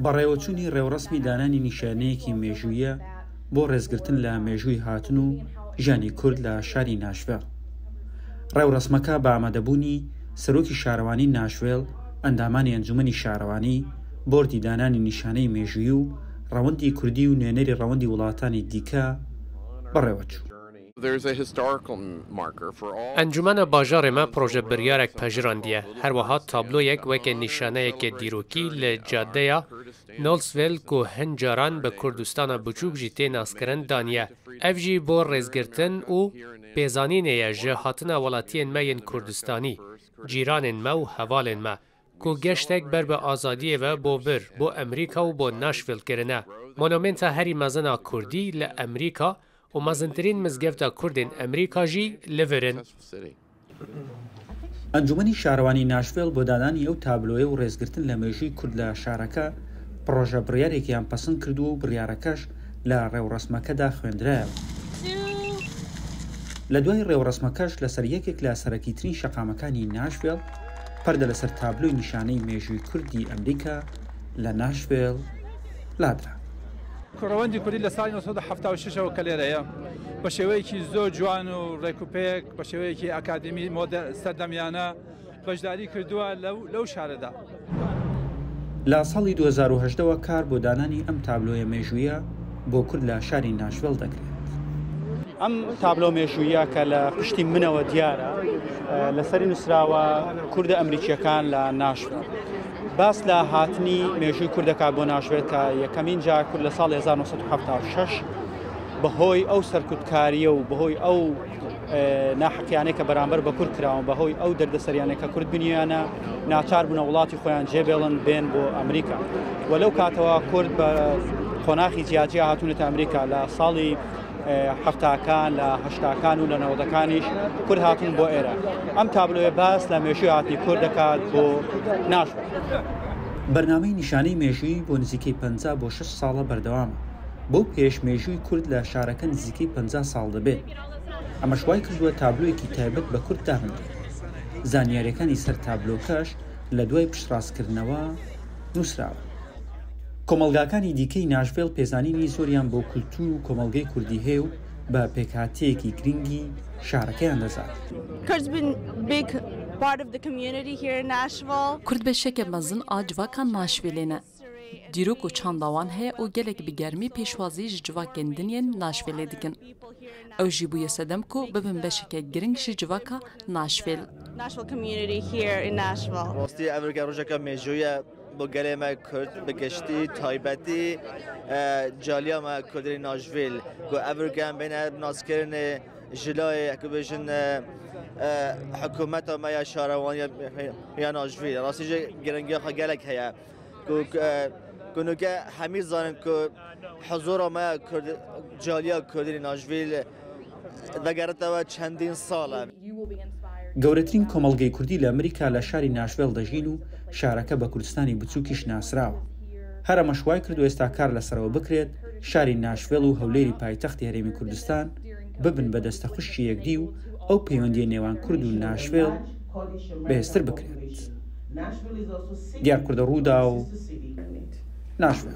بەڕێوەچوونی ڕێوڕەسمی دانانی نیشانەیەکی مێژوویە بۆ ڕێزگرتن لە مێژووی هاتن و ژیانی کورد لە شاری ناشڤێڵ. ڕێوڕەسمەکە بە ئامادەبوونی سەرۆکی شارەوانی ناشڤێڵ، ئەندامانی ئەنجومەنی شارەوانی، بۆردی دانانی نیشانەی مێژوویی و ڕەوەندی کوردی و نوێنەری ڕەوەندی وڵاتانی دیکە بەڕێوەچوو. ئەنجومەنە باژارێ me پرۆژە بریارێک پەژراندیە، هەروەها تابلۆیەک وەکە نیشانەیەکێ دیرۆکی لە جادەیا نۆڵسڤێل کو هن جاران بە کوردستانا بچووک ژی تێ ناسکرن دانیە، ئەڤ ژی بۆ ڕێزگرتن و پێزانینێیە ژ هاتنا وەڵاتیێن me yên کوردستانی، جیرانێن me و هەڤالێن me، کو گەشتێک بەر بە ئازادیێ ڤە بۆ ڤر، بۆ ئەمریکا و بۆ ناشڤیل کرنە. مۆنۆمێنتا هەری مەزن ئا کوردی لە ئەمریکا و مەزنترین مزگەفتا کوردێن ئەمریکا ژی لە ڤرن. ئەنجومەنی شارەوانی ناشڤێڵ بۆ دانانی ئەو تابلۆیە و ڕێزگرتن لە مێژووی کورد لە شارەکە، پڕۆژە بڕیارێکیان پەسند کردووە و بڕیارەکەش لە ڕێوڕەسمەکەدا خوێندرایەوە. لە دوای ڕێوڕەسمەکەش لەسەر یەکێک لە سەرەکیترین شەقامەکانی ناشڤێڵ، پەردە لەسەر تابلۆی نیشانەی مێژووی کوردی ئەمریکا لە ناشڤێڵ لادرا. ڕەوەندی کوردی لە ساڵی 1970 ەوە کە لێرەیە بە شێوەیەکی زۆر جوان و ڕێکوپێک بە شێوەیەکی ئەکادیمی مۆدە سەردەمیانە بەشداری کردووە لەو شارەدا. لە ساڵی 2018 وە کار بۆ دانانی ئەم تابلۆیە مێژوویە بۆ کورد لە شاری ناشڤێڵ دەکرێت. ئەم تابلۆ مێژوویە کە لە پشتی منەوە دیارە لەسەری نووسراوە کوردە ئەمریکیەکان لە ناشڤێڵ. باس لە هاتنی مێژووی کورد دەکات بۆ ناشڤێل کە یەکەمین جار کورد لە ساڵی 1976 بەهۆی ئەو سەرکوتکاریە و بەهۆی ئەو ناحەقیانەی کە بەرامبەر بە کورد کراون بەهۆی ئەو دەردەسەریانەی کە کورد بینیانە ناچار بوونە وڵاتی خۆیان جێبێڵن بێن بۆ ئەمریکا و لەو کاتەوە کورد بە قۆناخی جیاجیا هاتوونەتە ئەمریکا لە ساڵی هەفتاکان لە هەشتاکان و لە نەوەدەکانیش کورد هاتون بۆ ئێرە ئەم تابلۆیە باس لە مێژووی هاتنی کورد دەکات بۆ ناشڤێل. بەرنامەی نیشانەی مێژوویی بۆ نزیکەی 50 بۆ 60 ساڵە بەردەوامە، بەو پێیەش مێژووی کورد لە شارەکە نزیکەی 50 ساڵ دەبێت، ئەمەش وایکردووە تابلۆیەکی تایبەت بە کورد دابنرێت، زانیارییەکانی سەر تابلۆکەش لە دوای پشتڕاستکردنەوە نووسراون. کۆمەڵگاکانی دیکەی ناشڤێڵ پێزانینی زۆریان بۆ کولتوور و کۆمەڵگەی کوردی هەیە و بە پێکهاتەیەکی گرنگی شارەکەیان دەزانن. کورد بەشێکە مەزن ئا جڤاکا ناشڤێلێ ne. Dîrok û çanda wan heye û gelek bi germî pêşwazî ji civakên din yên Nashvilleê dikin. Ew jî bûye sedem ku bibin beşeke giring ji civaka Nashville. Rastî ev rike rojeke mêjû ye bo gelê me Kurd bi giştî taybetî caliya me Kurdên Nashville ku ev rike em bêne naskirinê ji layê ku bêjin hikûmeta me ya şarewaniya ya Nashville. Rastî jî giringiya xwe gelek heye. Ku nûke hemî zanin ku huzûra me ya Kurd caliya Kurdî li Nashville vegeritewe çendîn sal e. گەورەترین کۆمەڵگەی کوردی لە ئەمریکا لە شاری ناشڤێڵ دەژین و شارەکە بە کوردستانی بچووکیش ناسراوە. هەر ئەمەش وایکردووە ئێستا کار لەسەرەوە بکرێت شاری ناشڤێڵ و هەولێری پایتەختی هەرێمی کوردستان ببن بە دەستەخوشکی یەکدی و ئەو پەیوەندییە نێوان کورد و ناشڤێڵ بەهێزتر بکرێت. دیار کوردە، رووداو، ناشڤێڵ.